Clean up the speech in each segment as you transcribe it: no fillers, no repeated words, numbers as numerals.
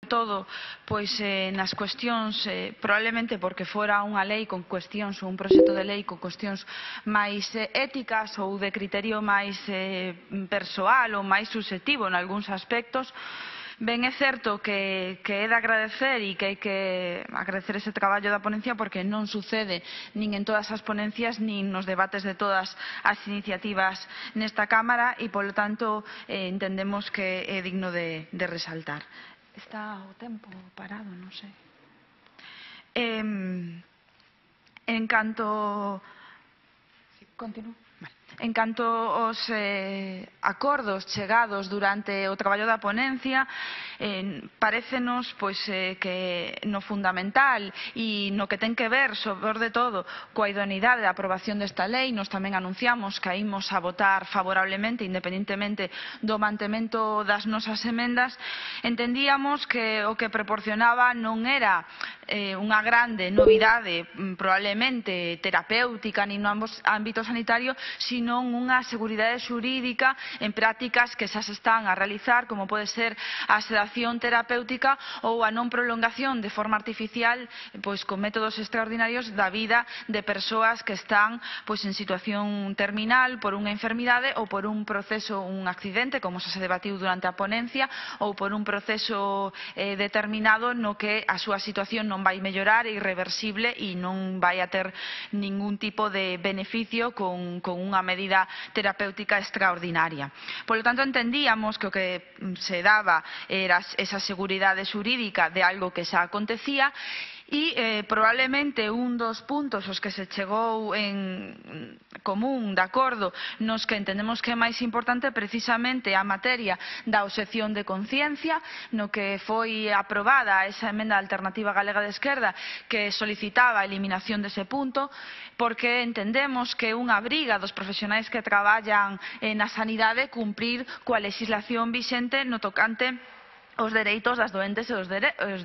todo pois nas cuestións, probablemente porque fora unha lei con cuestións ou un proxecto de lei con cuestións máis éticas ou de criterio máis persoal ou máis subxectivo en algúns aspectos. Ben, é certo que é de agradecer e que hai que agradecer ese traballo da ponencia porque non sucede nin en todas as ponencias nin nos debates de todas as iniciativas nesta Cámara e, polo tanto, entendemos que é digno de resaltar. Está o tempo parado, non sei. En canto... Continúo. En canto aos acordos chegados durante o traballo da ponencia, parécenos que no fundamental e no que ten que ver, sobre todo, coa idoneidade da aprobación desta lei, nos tamén anunciamos que ímos a votar favorablemente, independentemente do mantemento das nosas emendas. Entendíamos que o que proporcionaba non era unha grande novidade, probablemente terapéutica nin no ámbito sanitario, sino unha seguridade xurídica en prácticas que xa se están a realizar, como pode ser a sedación terapéutica ou a non prolongación de forma artificial con métodos extraordinarios da vida de persoas que están en situación terminal por unha enfermidade ou por un proceso, un accidente, como xa se debatiu durante a ponencia, ou por un proceso determinado no que a súa situación non vai mellorar, é irreversible e non vai a ter ningún tipo de beneficio con unha medida terapéutica extraordinaria. Por lo tanto, entendíamos que o que se daba era esa seguridade xurídica de algo que xa acontecía e probablemente un dos puntos aos que se chegou en común, de acordo, nos que entendemos que é máis importante precisamente a materia da obxección de conciencia, no que foi aprobada esa emenda alternativa galega de esquerda que solicitaba a eliminación dese punto, porque entendemos que é unha obriga dos profesionais que traballan na sanidade cumprir coa legislación vixente no tocante os dereitos das doentes e os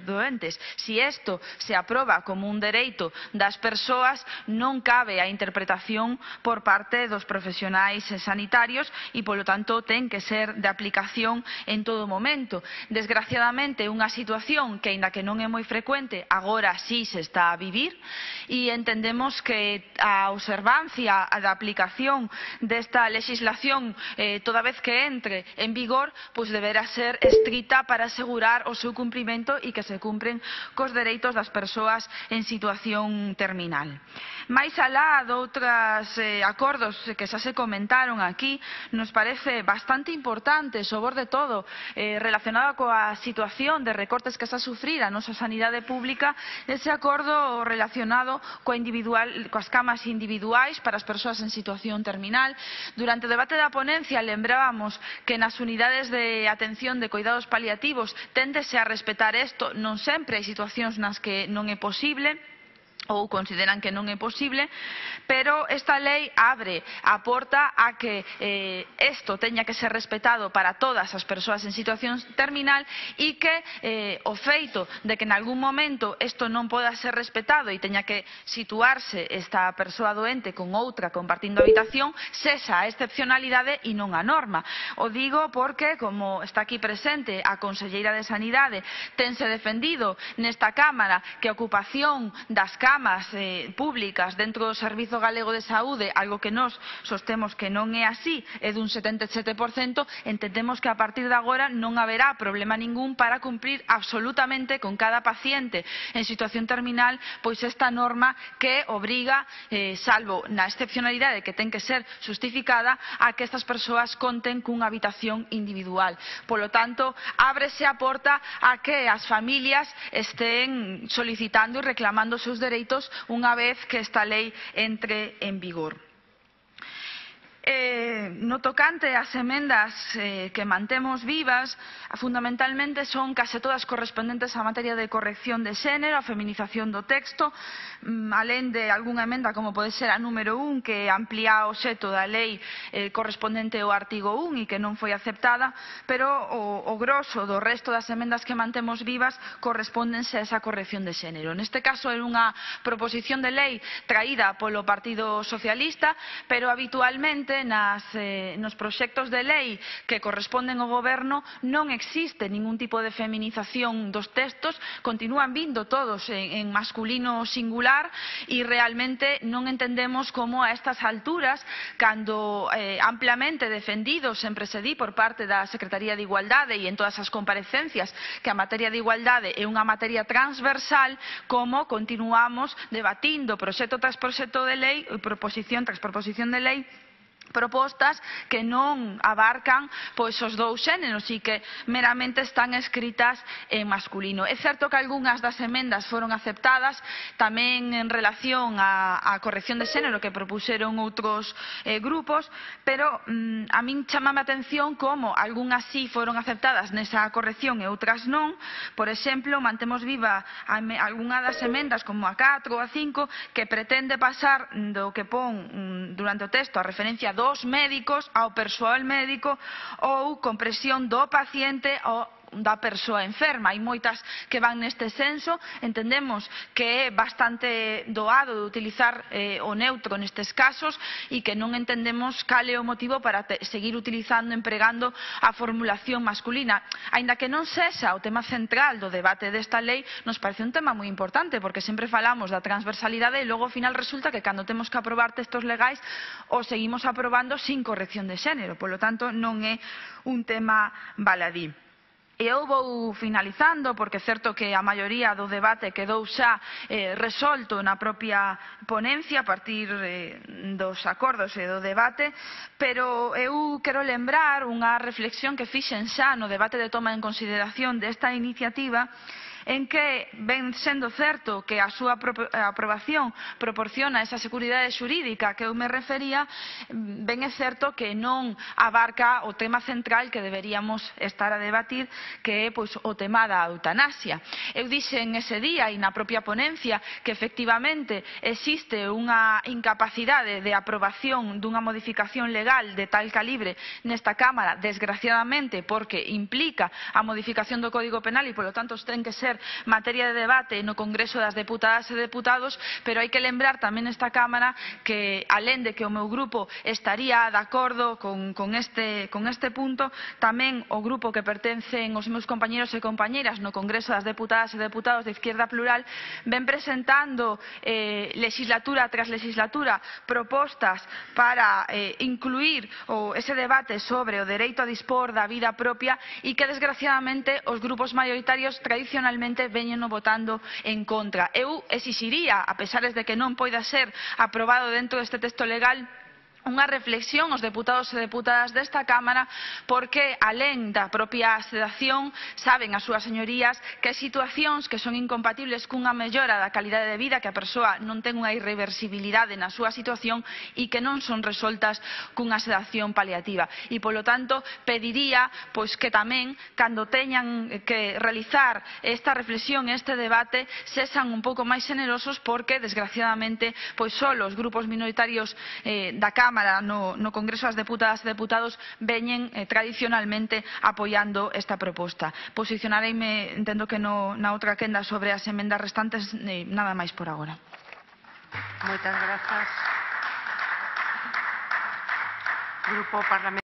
doentes. Si isto se aproba como un dereito das persoas, non cabe a interpretación por parte dos profesionais sanitarios e, polo tanto, ten que ser de aplicación en todo momento. Desgraciadamente, unha situación que, aínda que non é moi frecuente, agora sí se está a vivir e entendemos que a observancia da aplicación desta legislación toda vez que entre en vigor, pois deberá ser estrita para asegurar o seu cumprimento e que se cumpren cos dereitos das persoas en situación terminal. Mais alá de outros acordos que xa se comentaron aquí, nos parece bastante importante, sobre todo relacionado coa situación de recortes que xa sufrira a nosa sanidade pública, ese acordo relacionado coas camas individuais para as persoas en situación terminal. Durante o debate da ponencia lembrábamos que nas unidades de atención de cuidados paliativos téndese a respetar isto, non sempre hai situacións nas que non é posible ou consideran que non é posible, pero esta lei abre a porta a que isto teña que ser respetado para todas as persoas en situación terminal e que o feito de que en algún momento isto non poda ser respetado e teña que situarse esta persoa doente con outra compartindo habitación sexa a excepcionalidade e non a norma. O digo porque, como está aquí presente a conselleira de Sanidade, tense defendido nesta Cámara que a ocupación das camas públicas dentro do Servizo Galego de Saúde, algo que nós sostemos que non é así, é dun 77%, entendemos que a partir de agora non haberá problema ningún para cumprir absolutamente con cada paciente en situación terminal, pois esta norma que obriga, salvo na excepcionalidade que ten que ser justificada, a que estas persoas conten cunha habitación individual. Polo tanto, ábrese a porta a que as familias estén solicitando e reclamando os seus dereitos unha vez que esta lei entre en vigor. No tocante ás emendas que mantemos vivas, fundamentalmente son case todas correspondentes á materia de corrección de xénero, a feminización do texto, alén de algunha emenda como pode ser a número 1 que amplía o obxecto da lei correspondente ao artigo 1 e que non foi aceptada, pero o grosso do resto das emendas que mantemos vivas correspóndense a esa corrección de xénero. Neste caso é unha proposición de lei traída polo Partido Socialista, pero habitualmente efectivamente nos proxectos de lei que corresponden ao Goberno non existe ningún tipo de feminización dos textos, continúan vindo todos en masculino singular e realmente non entendemos como a estas alturas, cando ampliamente defendido, sempre se di por parte da Secretaría de Igualdade e en todas as comparecencias que a materia de igualdade é unha materia transversal, como continuamos debatindo proxecto tras proxecto de lei, proposición tras proposición de lei, propostas que non abarcan pois os dous xéneros e que meramente están escritas en masculino. É certo que algunhas das emendas foron aceptadas tamén en relación á corrección de xénero que propuxeron outros grupos, pero a min chamame a atención como algunhas sí foron aceptadas nesa corrección e outras non. Por exemplo, mantemos viva algunha das emendas como a 4 ou a 5 que pretende pasar do que pon durante o texto a referencia dos médicos ao persoal médico ou compresión do paciente ou da persoa enferma. Hai moitas que van neste senso, entendemos que é bastante doado de utilizar o neutro nestes casos e que non entendemos cal é o motivo para seguir utilizando, empregando a formulación masculina. Aínda que non sexa o tema central do debate desta lei, nos parece un tema moi importante, porque sempre falamos da transversalidade e logo ao final resulta que cando temos que aprobar textos legais o seguimos aprobando sin corrección de xénero. Polo tanto, non é un tema baladí. E eu vou finalizando, porque é certo que a maioría do debate quedou xa resolto na propia ponencia a partir dos acordos e do debate, pero eu quero lembrar unha reflexión que fixen xa no debate de toma en consideración desta iniciativa, en que ven sendo certo que a súa aprobación proporciona esa seguridade xurídica que eu me refería, ben é certo que non abarca o tema central que deberíamos estar a debatir, que é o tema da eutanasia. Eu dixen ese día e na propia ponencia que efectivamente existe unha incapacidade de aprobación dunha modificación legal de tal calibre nesta Cámara, desgraciadamente, porque implica a modificación do Código Penal e, polo tanto, ten que ser materia de debate no Congreso das Deputadas e Deputados, pero hai que lembrar tamén nesta Cámara que, alén de que o meu grupo estaría de acordo con este punto, tamén o grupo que pertencen os meus compañeros e compañeras no Congreso das Deputadas e Deputados de Izquierda Plural ven presentando legislatura tras legislatura propostas para incluir ese debate sobre o dereito a dispor da vida propia e que, desgraciadamente, os grupos maioritarios tradicionalmente veñeno votando en contra. Eu exixiría, a pesar de que non poida ser aprobado dentro deste texto legal, unha reflexión aos deputados e deputadas desta Cámara, porque alén da propia sedación saben as súas señorías que hai situacións que son incompatibles cunha mellora da calidade de vida, que a persoa non ten unha irreversibilidade na súa situación e que non son resoltas cunha sedación paliativa. E, polo tanto, pediría que tamén, cando teñan que realizar esta reflexión, este debate, sexan un pouco máis xenerosos, porque, desgraciadamente, só os grupos minoritarios da Cámara no Congreso das Deputadas e Deputados veñen tradicionalmente apoiando esta proposta. Posicionareime, entendo que na outra quenda, sobre as emendas restantes, nada máis por agora. Moitas grazas. Grupo Parlamentario